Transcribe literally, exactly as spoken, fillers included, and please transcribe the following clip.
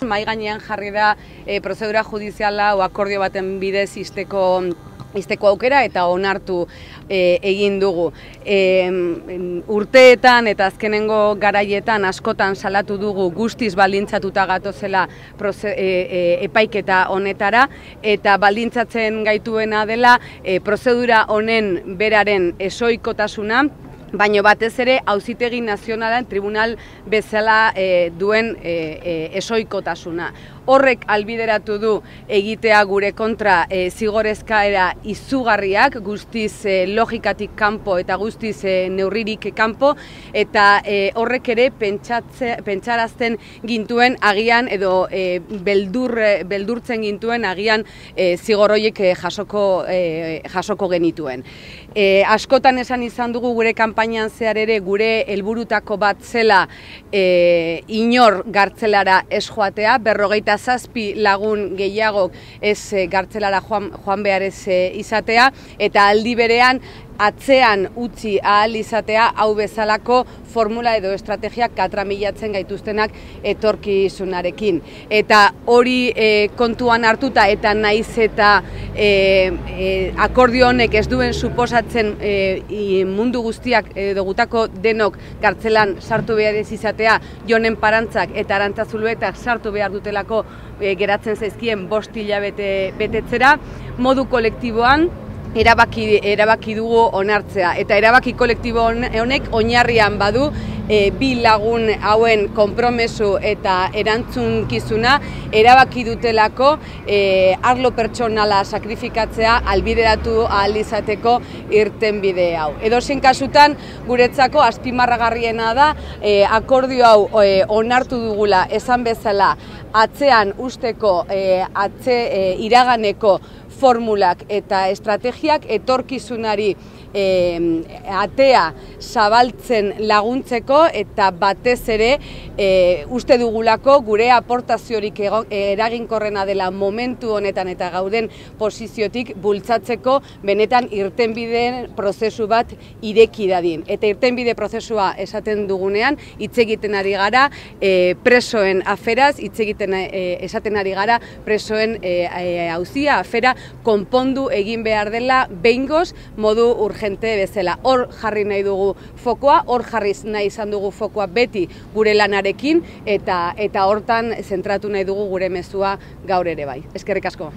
Mahai gainean jarri da e, prozedura judiziala o akordio baten bidez izteko izteko aukera eta onartu e, egin dugu. E, urteetan eta azkenengo garaietan askotan salatu dugu guztiz baldintzatuta gatozela proze, e, e, epaiketa honetara, eta baldintzatzen gaituena dela e, prozedura honen beraren ezohikotasuna, baina batez ere Auzitegi Nazionalen tribunal bezala e, duen e, e, ezohikotasuna. Horrek albideratu du egitea gure kontra e, zigorezkaera izugarriak, guztiz e, logikatik kanpo eta guztiz e, neurririk kanpo, eta e, horrek ere pentsatze, pentsarazten gintuen agian edo e, beldur, beldurtzen gintuen agian e, zigor horiek e, jasoko, e, jasoko genituen. E, askotan esan izan dugu gure kanpainan zehar ere gure helburutako bat zela e, inor gartzelara ez joatea, berrogeita zazpi lagun gehiagok ez e, gartzelara joan, joan behar ez e, izatea, eta aldi berean atzean utzi ahal izatea hau bezalako formula edo estrategiak katramilatzen gaituztenak etorkizunarekin. Eta hori e, kontuan hartuta eta naiz eta e, e, akordio honek ez duen suposatzen e, mundu guztiak edo gutako denok gartzelan sartu behar ez izatea, Jonen Parantzak eta Arantzazuluetak sartu behar dutelako e, geratzen zaizkien bost hilabete betetzera, modu kolektiboan erabaki, erabaki dugu onartzea. Eta erabaki kolektibo honek oinarrian badu e, bi lagun hauen konpromesu eta erantzunkizuna erabaki dutelako e, arlo pertsonala sakrifikatzea albideratu ahal izateko irtenbide hau. Edozein kasutan guretzako azpimarragarriena da e, akordio hau e, onartu dugula esan bezala atzean usteko e, atze e, iraganeko formulak eta estrategiak etorkizunari e, atea zabaltzen laguntzeko, eta batez ere e, uste dugulako gure aportaziorik eraginkorrena dela momentu honetan eta gauden posiziotik bultzatzeko benetan irtenbideen prozesu bat ireki dadin. Eta irtenbide prozesua esaten dugunean hitz egiten ari gara e, presoen aferaz, hitz egiten e, esaten ari gara presoen e, e, auzia, afera konpondu egin behar dela behingoz modu urgente bezala. Hor jarri nahi dugu fokoa, hor jarriz nahi izan dugu fokoa beti gure lanarekin, eta eta hortan zentratu nahi dugu gure mezua gaur ere bai. Eskerrik asko.